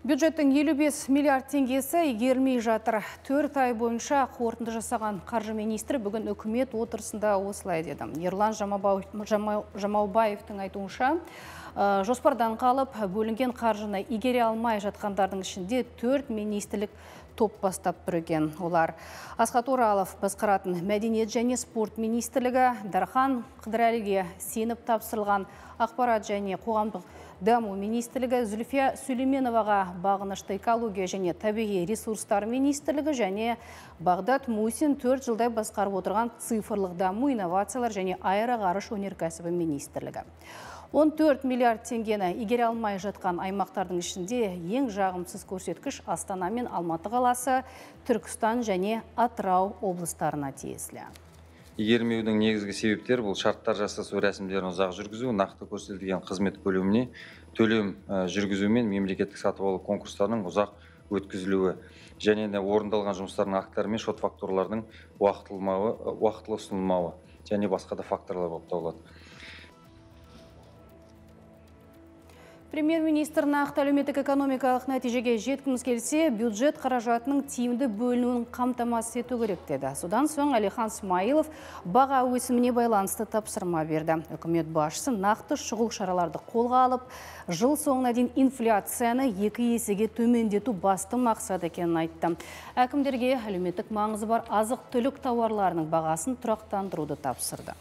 Бюджеттің 55 миллиард теңгесі игерілмей жатыр. 4 ай бойынша қорытынды жасаған қаржы министрі бүгін үкімет отырысында осылай деді. Ерлан Жамаубаевтың айтуынша, жоспардан қалып бөлінген қаржыны игере алмай жатқандардың ішінде 4 министрлік топ бастап бірген. Олар Асхат Оралов басқаратын Мәдениет және спорт министрлігі, Дархан Қыдырәліге сеніп тапсырылған ақпарат және қоғамдық даму министрлігі, Зүлфия Сүлейменоваға бағынышты экология және табиғи ресурстар министрлігі және Бағдат Мусин 4 жылдай басқарып отырған цифрлық даму, инновациялар және аэроғарыш өнеркәсібі министрлігі. 14 миллиард теңгені игере алмай жатқан аймақтардың ішінде ең жағымсыз көрсеткіш Астана мен Алматы қаласы, Түркістан және Атырау облыстарына тиесілі. Игермеудің негізгі себептері бұл шарттар жасасу рәсімдерін ұзақ жүргізу, нақты көрсетілген қызмет көлеміне төлем жүргізу мен мемлекеттік сатып алу конкурстарының ұзақ өткізілуі және де орындалған жұмыстардың актілері мен шот фактуралардың уақытылы ұсынылмауы және басқа да факторлар болып табылады. Премьер-министр нақты әлеуметтік экономикалық нәтижеге жеткіміз келсе, бюджет қаражатының тиімді бөлінуін қамтамасыз ету керек деді. Содан соң Әлихан Смайылов баға өсіміне байланысты тапсырма берді. Үкімет басшысы нақты шұғыл шараларды қолға алып, жыл соңына дейін инфляцияны 2 есеге төмендету басты мақсат екенін айтты. Әкімдерге әлеуметтік маңызы бар азық-түлік тауарларының бағасын тұрақтандыруды тапсырды.